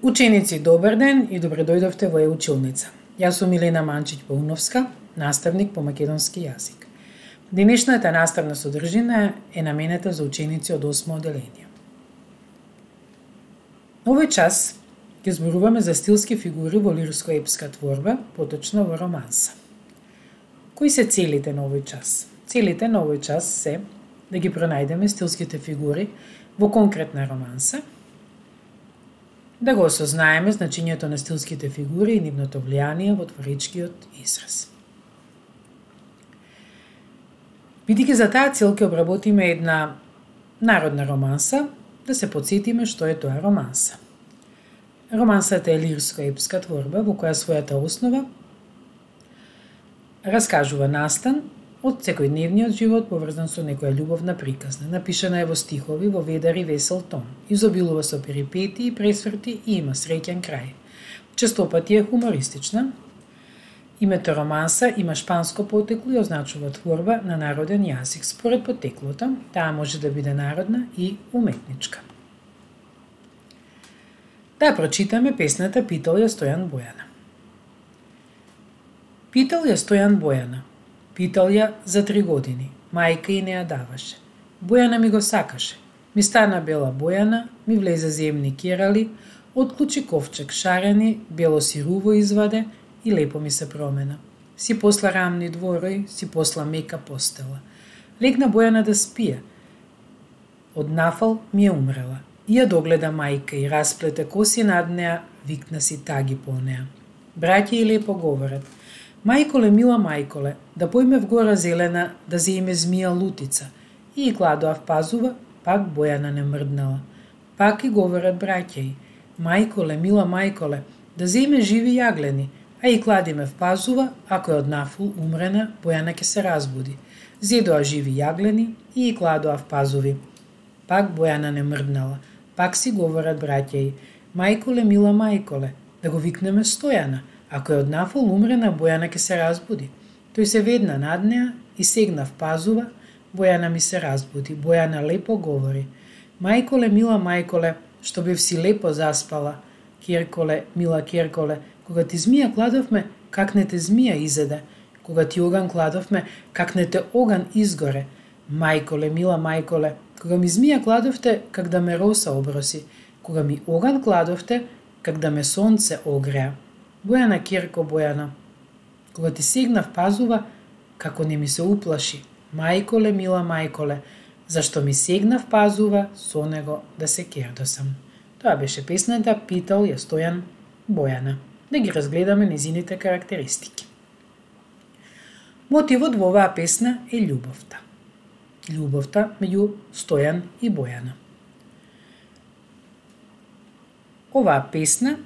Ученици, добар ден и добре дојдовте во Е-училница. Јас сум Милена Манчиќ-Пауновска, наставник по македонски јазик. Денешната наставна содржина е наменета за ученици од 8 оделение. Овој час ќе зборуваме за стилски фигури во лирско-епска творба, поточно во романса. Кои се целите на овој час? Целите на овој час се да ги пронајдеме стилските фигури во конкретна романса, да го осознаеме значењето на стилските фигури и нивното влијание во творичкиот израз. Бидејќи за таа цел ќе обработиме една народна романса, да се потсетиме што е тоа романса. Романсата е лирско-епска творба во која својата основа раскажува настан од секојдневниот живот поврзан со некоја љубовна приказна. Напишана е во стихови, во ведар и весел тон. Изобилува со перипетии, пресврти и има среќен крај. Честопати е хумористична. Името романса има шпанско потекло и означува творба на народен јазик. Според потеклото, таа може да биде народна и уметничка. Да прочитаме песната Питал ја Стојан Бојана. Питал ја Стојан Бојана. Питал ја за 3 години. Мајка и не ја даваше. Бојана ми го сакаше. Ми стана бела Бојана, ми влезе земни керали, отклучи ковчег шарени, бело сируво изваде и лепо ми се промена. Си посла рамни дворој, си посла мека постела. Легна Бојана да спие. Од нафал ми е умрела. И ја догледа мајка и расплете коси над неа, викна си таги по неа. Браќа и лепо говорат. Мајколе, мила мајколе, да појме в гора зелена, да зеиме змија лутица. И кладоав пазува, пак Бојана не мрднала. Пак и говорат браќа и. Мајколе, мила мајколе, да зеиме живи јаглени, а и кладиме в пазува, ако е од нафул умрена, Бојана ќе се разбуди. Зедоа живи јаглени и кладоав пазуви. Пак Бојана не мрднала. Пак си говорат браќа и. Мајколе, мила мајколе, да го викнеме Стојана. Ако е од нафол умрена, Бојана ќе се разбуди. Тој се ведна над неа и сегна в пазува, Бојана ми се разбуди. Бојана лепо говори. Мајколе, мила мајколе, што бев си лепо заспала. Керколе, мила керколе, кога ти змија кладовме, как не те змија изеде. Кога ти оган кладовме, как не те оган изгоре. Мајколе, мила мајколе, кога ми змија кладовте, как да ме роса оброси. Кога ми оган кладовте, как да ме сонце огреа. Бојана керко Бојана, кога ти сегна в пазува, како не ми се уплаши. Мајколе, мила мајколе, зашто ми сегна в пазува, со него да се кердосам. Тоа беше песната Питал ја Стојан Бојана. Да ги разгледаме незините карактеристики. Мотивот во оваа песна е љубовта. Љубовта меѓу Стојан и Бојана. Оваа песна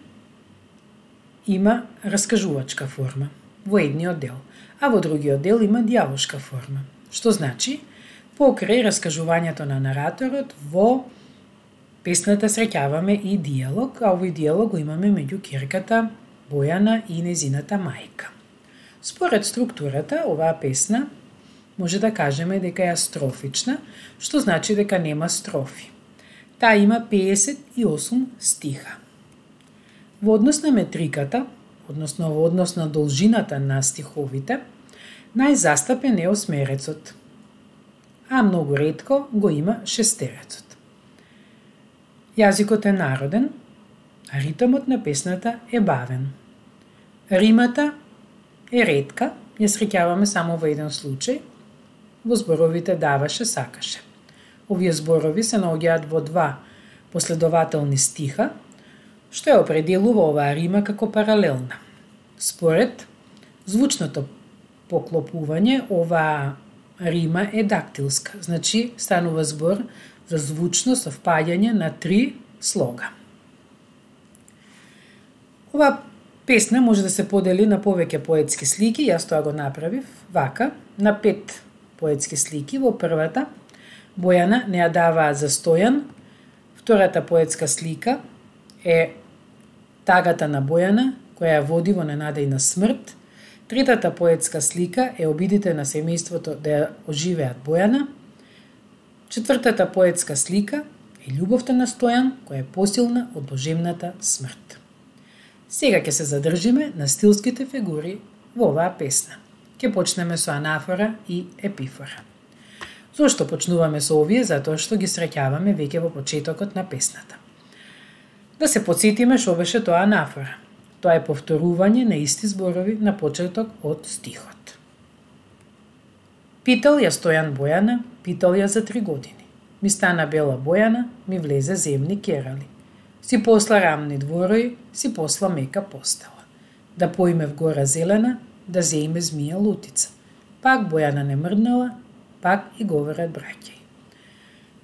има раскажувачка форма во едниот дел, а во другиот дел има дијалошка форма. Што значи, покрај раскажувањето на нараторот, во песната среќаваме и дијалог, а овој дијалог го имаме меѓу ќерката Бојана и незината мајка. Според структурата, оваа песна може да кажеме дека е астрофична, што значи дека нема строфи. Таа има 58 стиха. Во однос на метриката, односно во однос на должината на стиховите, најзастапен е осмерецот, а многу ретко го има шестерецот. Јазикот е народен, а ритмот на песната е бавен. Римата е ретка, ја среќаваме само во еден случај, во зборовите даваше, сакаше. Овие зборови се наоѓаат во 2 последователни стиха, што ја определува оваа рима како паралелна. Според звучното поклопување, оваа рима е дактилска, значи станува збор за звучно совпаѓање на 3 слога. Оваа песна може да се подели на повеќе поетски слики, јас тоа го направив вака, на 5 поетски слики. Во првата, Бојана не ја даваат за Стојан, втората поетска слика е тагата на Бојана, која ја води во ненадејна смрт. Третата поетска слика е обидите на семејството да ја оживеат Бојана. Четвртата поетска слика е е љубовта на Стојан, која е посилна од доживната смрт. Сега ќе се задржиме на стилските фигури во оваа песна. Ќе почнеме со анафора и епифора. Зошто почнуваме со овие? Затоа што ги среќаваме веќе во почетокот на песната. Да се потсетиме што беше тоа анафора. Тоа е повторување на исти зборови на почеток од стихот. Питал ја Стојан Бојана, питал ја за 3 години. Ми стана бела Бојана, ми влезе земни керали. Си посла рамни дворои, си посла мека постела. Да поиме в гора зелена, да зеиме змија лутица. Пак Бојана не мрднала, пак и говорат браќај.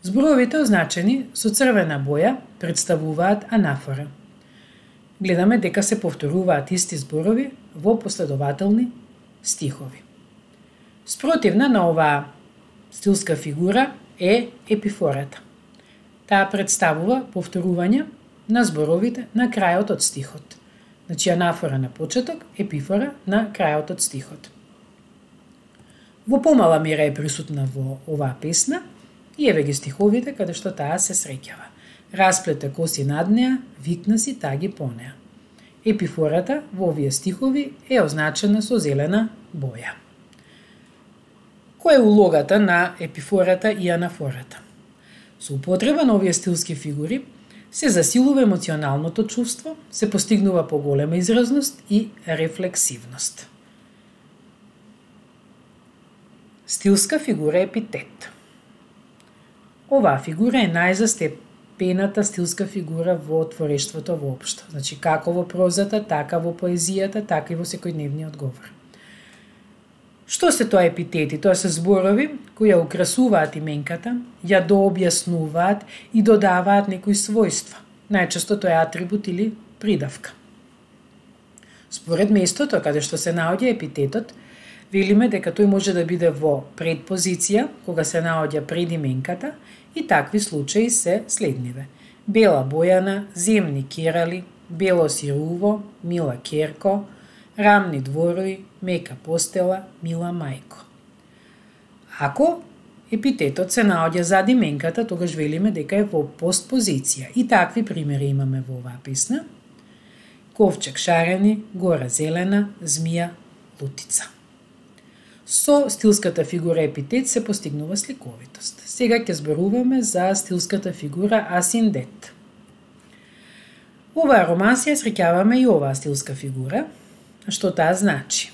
Зборовите означени со црвена боја представуваат анафора. Гледаме дека се повторуваат исти зборови во последователни стихови. Спротивна на оваа стилска фигура е епифората. Таа представува повторување на зборовите на крајот од стихот. Значи анафора на почеток, епифора на крајот од стихот. Во помала мера е присутна во оваа песна и еве ги стиховите каде што таа се среќава. Расплете коси над неа, викна си таги по неа. Епифората во овие стихови е означена со зелена боја. Која е улогата на епифората и анафората? Со употреба на овие стилски фигури се засилува емоционалното чувство, се постигнува поголема изразност и рефлексивност. Стилска фигура епитет. Оваа фигура е најзастепената стилска фигура во творештвото воопшто. Значи, како во прозата, така во поезијата, така и во секојдневниот говор. Што се тоа епитети? Тоа се зборови кои ја украсуваат именката, ја дообјаснуваат и додаваат некои својства. Најчесто тоа е атрибут или придавка. Според местото каде што се наоѓа епитетот, велиме дека тој може да биде во предпозиција, кога се наоѓа пред именката, и такви случаи се следниве. Бела Бојана, земни керали, бело сируво, мила керко, рамни дворои, мека постела, мила мајко. Ако епитетот се наоѓа зад именката, тогаш велиме дека е во постпозиција. И такви примери имаме во оваа песна. Ковчег шарени, гора зелена, змија лутица. Со стилската фигура епитет се постигнува сликовитост. Сега ќе зборуваме за стилската фигура асиндет. Во оваа романсија среќаваме и оваа стилска фигура. Што таа значи?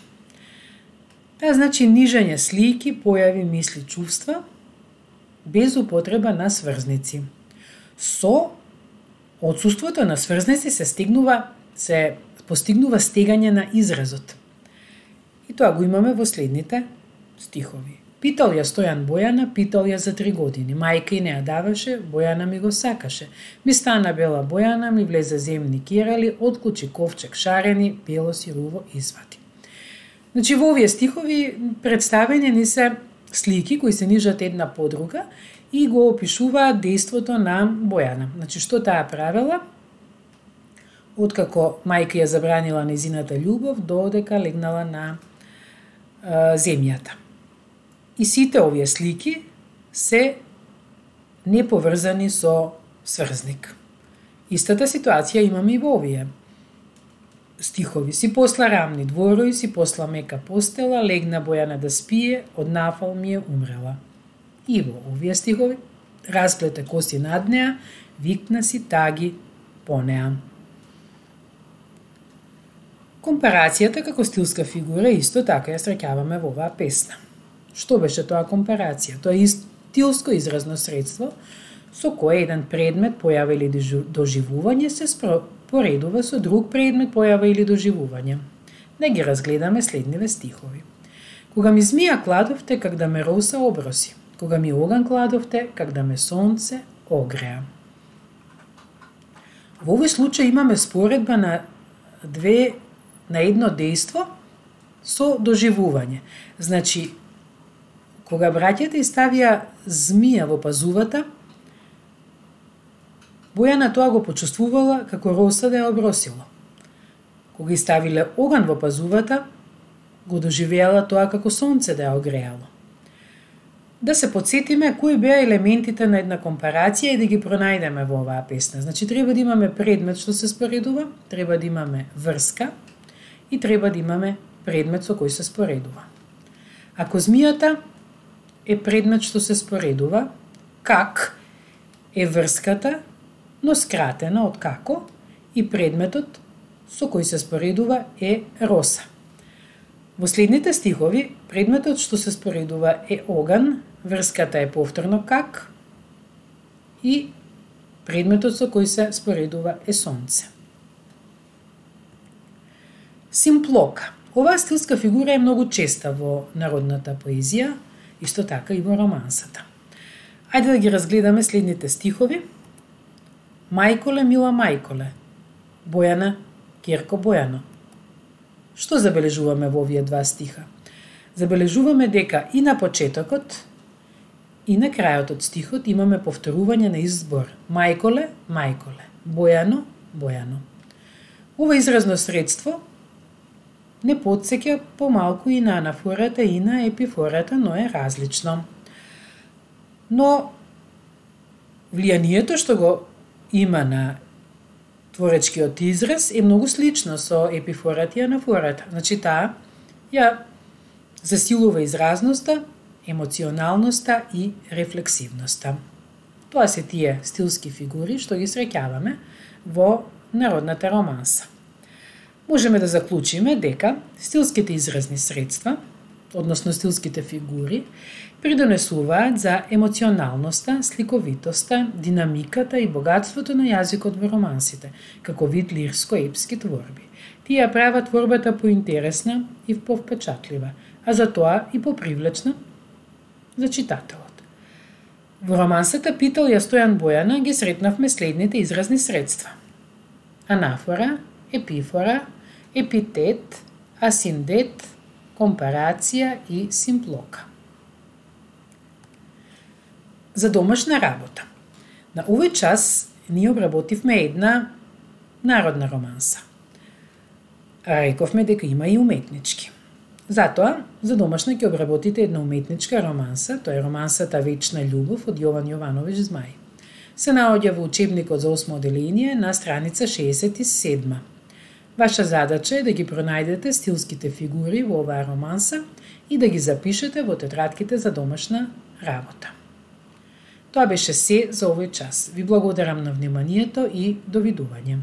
Таа значи нижање слики, појави, мисли, чувства, без употреба на сврзници. Со отсуството на сврзници се постигнува стегање на изразот. И тоа го имаме во следните стихови. Питал ја Стојан Бојана, питал ја за 3 години. Мајка и не ја даваше, Бојана ми го сакаше. Ми стана бела Бојана, ми влезе земни керали, отклучи ковчег шарени, бело сируво извади. Значи, во овие стихови представени ни се слики кои се нижат една по друга и го опишуваат дејството на Бојана. Значи, што таа правела? Откако мајка ја забранила незината љубов, додека легнала на земјата. И сите овие слики се неповрзани со сврзник. Истата ситуација имаме и во овие стихови. Си посла рамни дворои, си посла мека постела, легна Бојана да спие, од нафал ми е умрела. И во овие стихови расплете коси над неа, викна си таги по неа. Компарацијата како стилска фигура исто така ја среќаваме во оваа песна. Што беше тоа компарација? Тоа е стилско изразно средство со кое еден предмет, појава или доживување се поредува со друг предмет, појава или доживување. Да ги разгледаме следниве стихови. Кога ми змија кладовте, как да ме роса оброси. Кога ми оган кладовте, как да ме сонце огреа. Во овој случај имаме споредба на едно дејство со доживување. Значи, кога браќата ставија змија во пазувата, Бојана тоа го почувствувала како роса да ја обросила. Кога ставиле оган во пазувата, го доживеала тоа како сонце да ја огреало. да се подсетиме кои беа елементите на една компарација и да ги пронајдеме во оваа песна. Значи, треба да имаме предмет што се споредува, треба да имаме врска и треба да имаме предмет со кој се споредува. Ако змијата е предмет што се споредува, как е врската, но скратена од како, и предметот со кој се споредува е роса. Во следните стихови, предметот што се споредува е оган, врската е повторно как и предметот со кој се споредува е сонце. Симплока. Оваа стилска фигура е многу честа во народната поезија, исто така и во романсата. Ајде да ги разгледаме следните стихови. Мајколе, мила мајколе, Бојана, Керко Бојано. Што забележуваме во овие два стиха? Забележуваме дека и на почетокот и на крајот од стихот имаме повторување на избор. Мајколе, мајколе, Бојано, Бојано. Ова изразно средство не потсеќа помалку и на анафората и на епифората, но е различно. Но влијанието што го има на творечкиот израз е многу слично со епифората и анафората. Значи таа ја засилува изразноста, емоционалноста и рефлексивноста. Тоа се тие стилски фигури што ги среќаваме во народната романса. Можеме да заклучиме дека стилските изразни средства, односно стилските фигури, придонесуваат за емоционалноста, сликовитоста, динамиката и богатството на јазикот во романсите, како вид лирско-епски творби. Тие ја прават творбата поинтересна и повпечатлива, а затоа и попривлечна за читателот. Во романсата Питолја Стојан Бојана ги сретнавме следните изразни средства: анафора, епифора, епитет, асиндет, компарација и симплока. За домашна работа. На овој час ние обработивме една народна романса. Рековме дека има и уметнички. Затоа, за домашна ќе обработите една уметничка романса, тоа е романсата Вечна љубов од Јован Јовановиќ Змај. Се наоѓа во учебникот за 8 оделение на страница 67. Ваша задача е да ги пронајдете стилските фигури во оваа романса и да ги запишете во тетрадките за домашна работа. Тоа беше се за овој час. Ви благодарам на вниманието и довидување.